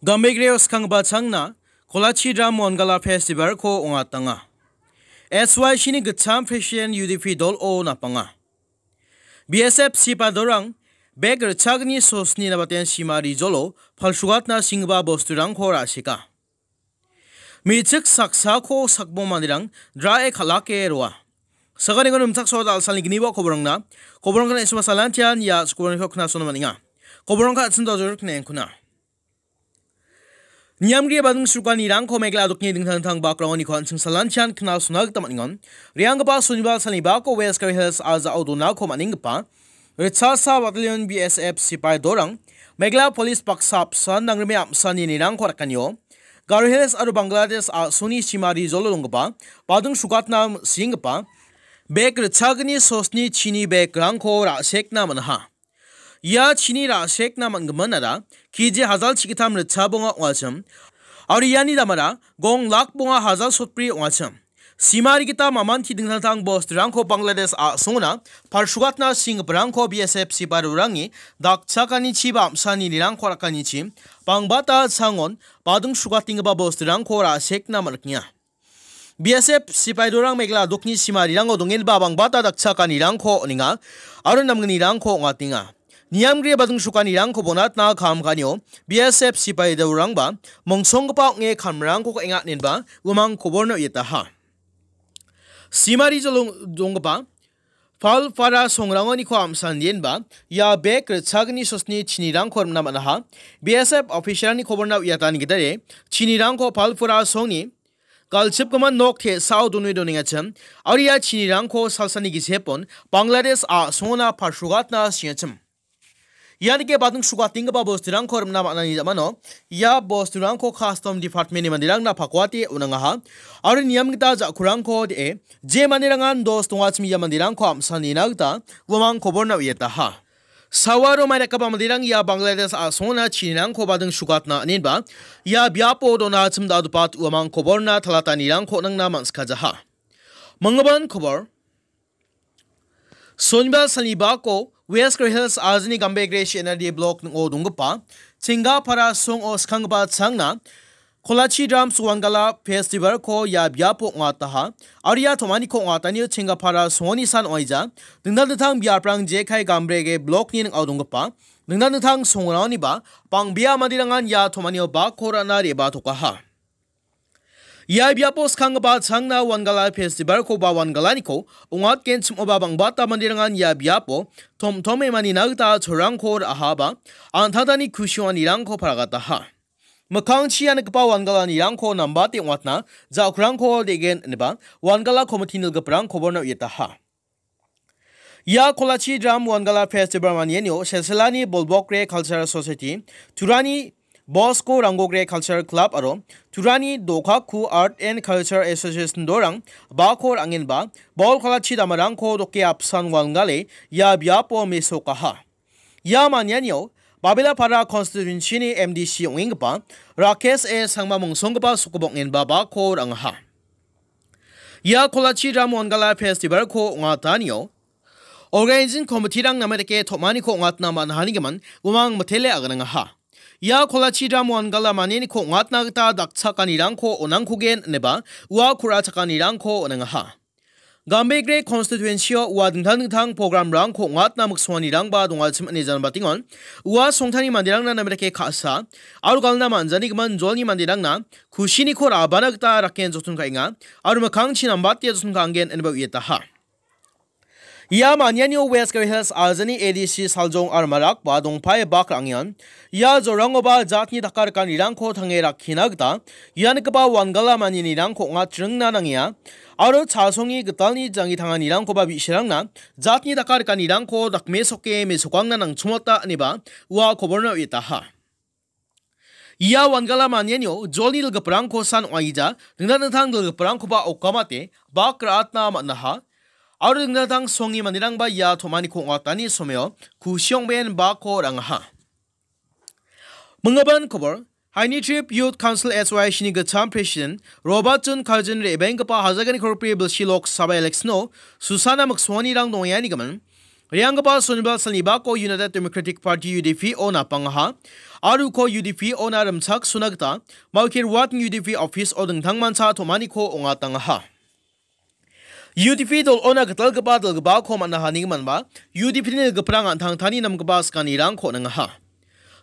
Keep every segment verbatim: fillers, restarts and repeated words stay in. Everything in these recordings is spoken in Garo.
Gambegreo skanggipa changna Kolachi Dram Wangala Festival-ko ong·atanga. S Y C-ni gitcham President U D P dolo napanga. B S F sipaidorang bek ritchagni sosni nabaten sima rijolo palsugatna singgipa bosturangko ra·seka. Me·chik saksako sakbong manderang drae kal·ake roa. Sakaniko nimchaksoa dal·salni gniba koborangna, koborangna isma salantian ia koborangko knasona man·enga. Koborangka atsin dojor knengkuna. Niamgri bading sukanirangko Meghalaya dokni dingtang dingtang bakrangoni ko an·ching salantian knasona gita man·engon. Rianggipa soniba salni bako West Garo Hills a·jao donako man·enggipa Ritchasa Battalion B S F sipaidorang Meghalaya Police baksa apsan nangrime amsani nirangko rakanio Garo Hills aro Bangladesh a·songni sima rijolo donggipa bading sugatna singgipa bek ritchagni sosni chini bekrangko ra·sekna man·aha. Ia chini ra·sekna man·gimin ada K G hajal chigittam ritchabonga ong·achim. Aro iani damara gong lak bonga hajal sotbri ong·achim. Simari gita mamanti dingtang dingtang bosturangko Bangladesh a·songona palsugatna singgiparangko B S F sipairangni dakchakanichi ba amsani nirangko rakanichi bangbata changon bading sugatenggipa bosturangko ra·sekna man·riknga. B S F sipaidorang Meghalaya dokni simarirango dongenba bangbata dakchakanirangko on·enga aro namgnirangko ong·atenga. Niamgri bading sukanirangko bonatna kam ka·anio B S F sipaidorangba mongsonggipa ong·e kamrangko ka·enga inenba uamang koborna uiataha. Simari jolong donggipa Palpara songrangoniko amsandienba ia bek ritchagni sosni chinirangko rimna man·aha. B S F official-ni koborna uiatani gitade chinirangko Palpara songni galchipgimin nok te·sao donue donengachim, aro ia chinirangko salsani gisepon Bangladesh a·songona palsugatna singachim. Ianike bading sugatenggipa bosturangko rimna man·ani jamano ia bosturangko Custom Department-ni manderangna pakuate on·angaha, aro niam gita ja·kurangko de·e je manderangan dos dongachim ia manderangko amsanina gita uamang koborna uiataha. Sawaro maidakgipa manderang ia Bangladesh a·songona chinirangko bading sugatna inenba ia biapo donachim da·odopat uamang koborna talatanirangko nangna man·sikajaha. Manggipan kobor. Sonibal salni bako West Garo Hills ajini Gambegre C N R D block ning·o donggipa Chengapara songo skanggipa changna Kolachi Drums Wangala Festival-ko ia biapo ong·ataha. Aro ia tom·aniko ong·atanio Chengapara songoni san ong·aija. Dingtang dingtang biaprang jekai Gambrege block-ni ning·ao donggipa dingtang dingtang songrangoniba bang·bea manderangan ia tom·anio bakko ra·na re·batokaha. Ia biapo skanggipa changna Wangala Festival-ko ba Wangalaniko ong·atgenchim oba bang·bata manderangan ia biapo tom-tome manina gita cholrangko ra·ahaba an·tangtangni kusi ong·anirangko paragataha. Mikkangchi ia nikgipa Wangalanirangko nambate ong·atna ja·okrangko de·gen ineba Wangala komiti nilgiparang koborna uiataha. Ia Kolachi Dram Wangala Festival manianio Selselani Bolbokre Cultural Society, Turani Bosco Rangogre Cultural Club aro Turani Dokaku Art and Culture Association dorang bakor angenba bol kolachi damarangko doke apsan wangale ia biapo mesokaha. Ia manianio Babelapara Constituency-ni M D C ong·enggipa Rakesh A Sangma mongsonggipa sokobongenba bako ra·angaha. Ia Kolachi Dram Wangala Festival-ko ong·atanio organizing committee-rang name dake tom·aniko ong·atna man·hanigimin uamang mitele aganangaha. Ia Kolachi Dram Wangala manianiko ong·atna gita dakchakanirangko on·angkogen ineba ua ku·rachakanirangko on·angaha. Gambegre constituency-o ua dingtang dingtang program-rangko ong·atna miksonganirangba dongachim ine janbatengon. Ua songtani manderangna name dake ka·sa aro galna man·janigimin jolni manderangna kusiniko ra·bana gita raken joton ka·enga aro mikkangchi nambate joton ka·angen ineba uiataha. Ia manianio West Garo Hills ajani A D C Saljong aro Marakba dongpae bak ra·angengan. Ia jorangoba jatni dakarikanirangko tange rakkina gita ia nikgipa Wangala manianirangko ong·atringna nangenga. Aro chasongi gitalni janggi tanganirangkoba bi·sarangna jatni dakarikanirangko dakmesoke mesokangna nangchongmota ineba ua koborna uiataha. Ia Wangala manianio jolni dilgiparangko san ong·aija, dingtang dingtang dilgiparangkoba okamate bak ra·atna man·aha. Aro dingtang dingtang songi manderangba ia tom·aniko ong·atani someo kusi ong·ben bako ra·angaha. Minggipan kobor, Haini Trip Youth Council S Y C-ni gitcham President Robert John Karjin re·baenggipa hajalgni korpi bilsi Lok Sabha election-o susana miksonganirang dongengani gimin, Re·anggipa sonibal salnibako United Democratic Party, U D P-o napangaha. Aro uko U D P-ona rimchaksona gita Mawkir Watni U D P office-o dingtangmancha tom·aniko ong·atangaha. U D P dol-ona gitalgipa dilgipako man·a hanigiminba, U D P-ni dilgiprang an·tangtangni namgipa sakanirangko on·angaha.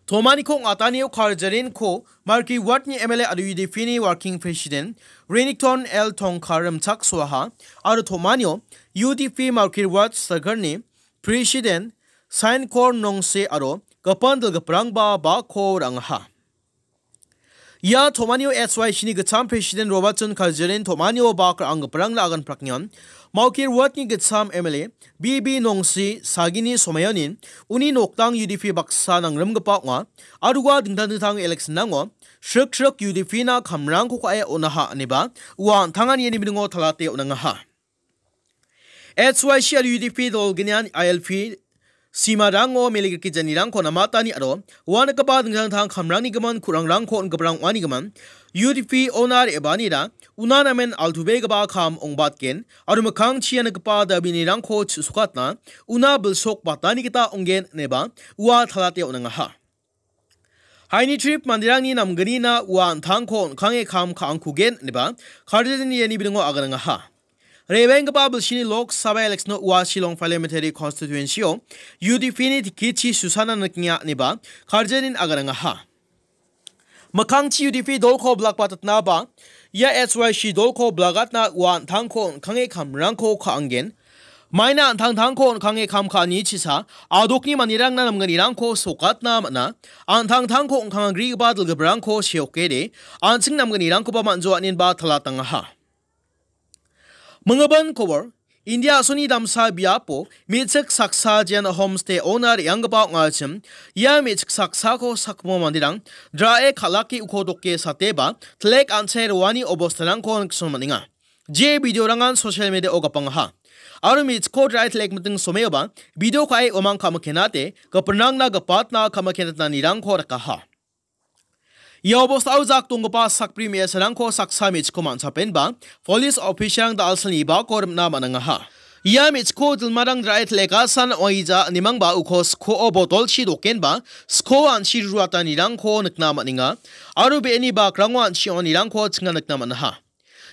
Tom·aniko ong·atanio karjarenko Mawkir Watni M L A aro U D P-ni Working President Renikton L Tongkhar rimchaksoaha, aro tom·anio U D P Mawkir Wat Circle-ni President Sainkor Nongse aro gipin dilgiprangba bako ra·angaha. Ia tom·anio H Y C-ni gitcham President Robertson Kaljaren tom·anio bak ra·anggiparangna aganpraknian, Mawkir Watni gitcham M L A B B Nongsi sagini somaionin uni nokdang U D P baksa nangrimgipa ong·a, aro ua dingtang dingtang election-rango srik srik U D P-na kamrangko ka·e on·aha ineba ua an·tangani iani biningo talate on·angaha. H Y C aro U D P dolgnian I L P simarango mele grikijanirangko namatani aro ua nikgipa dingtang dingtang kamrangni gimin ku·rangrangko on·giparang ong·ani gimin U D P-ona re·baanira una namen altubegipa kam ong·batgen aro mikkangchi ia nikgipa dabinirangko chu·sokatna una bilsok batani gita ong·gen ineba ua talate on·angaha. Haini trip manderangni namgnina ua an·tangko on·kange kam ka·angkugen ineba karjarini iani biningo aganangaha. Re·baenggipa bilsini Lok Sabha election-o ua Shillong Parliamentary Constituency-o U D P-ni ticket-chi susana niknga ineba karjarin aganangaha. Mikkangchi U D P dolko bilakbatatnaba ia H Y C dolko bilagatna ua an·tangko on·kange kamrangko ka·anggen. Maina an·tangtangko on·kange kam ka·ani chisa adokni manderangna namgnirangko sokatna man·a. An·tangtangko on·kangagrigipa dilgiprangko seokede an·ching namgnirangkoba man·joaninba talatangaha. Minggipa kobor, India a·soni damsa biapo me·chik saksa Jain Homestay-ona re·anggipa ong·achim, ia me·chik saksako sakgimo manderang dra·e kal·ake uko doke sateba, telek an·che roani obostarangko nikson man·enga. Je videorangan social media-o gapangaha. Aro me·chikko dra·e telek miting someoba, video ka·e uamang ka·mikenate, gipinrangna gipatna ka·mikenatnanirangko rikaha. Ia obostao jak donggipa sakbri me·asarangko saksa me·chikko man·chapenba, police officer-rang da·alsalni bako rimna man·angaha. Ia me·chikko dilmarang dra·e telekasan ong·aija ine mangba uko skoo botolchi dokenba, skoo an·chi ruatanirangko nikna man·enga, aro be·eni bakrango an·chi ong·anirangko chinga nikna man·aha.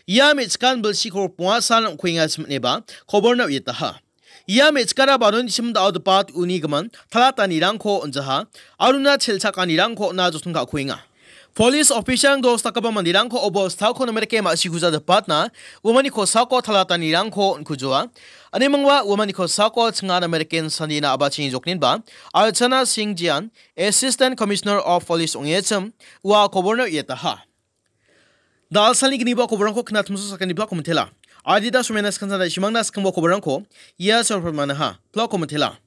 Ia me·chikan bilsi krok bongasan ong·kuengachim ineba koborna uiataha. Ia me·chikara baronichim da·odepat uni gimin talatanirangko on·jaha, aruna chelchakanirangko on·a joton ka·kuenga. Police officer-rang dos dakgipa manderangko obostako namerike ma·sikujadipatna uamani kosako talatanirangko on·kujoa. Ane mangba uamani kosako chinga namerike sanina abachini jokninba Archana Singh Jain, Assistant Commissioner of Police ong·echim, ua koborna uiataha. Da·alsalni gniba koborangko knatimso sakaniba komitela. Adita somena skansa da·simangna skangbo koborangko ia sorpamanaha. Pla komitela.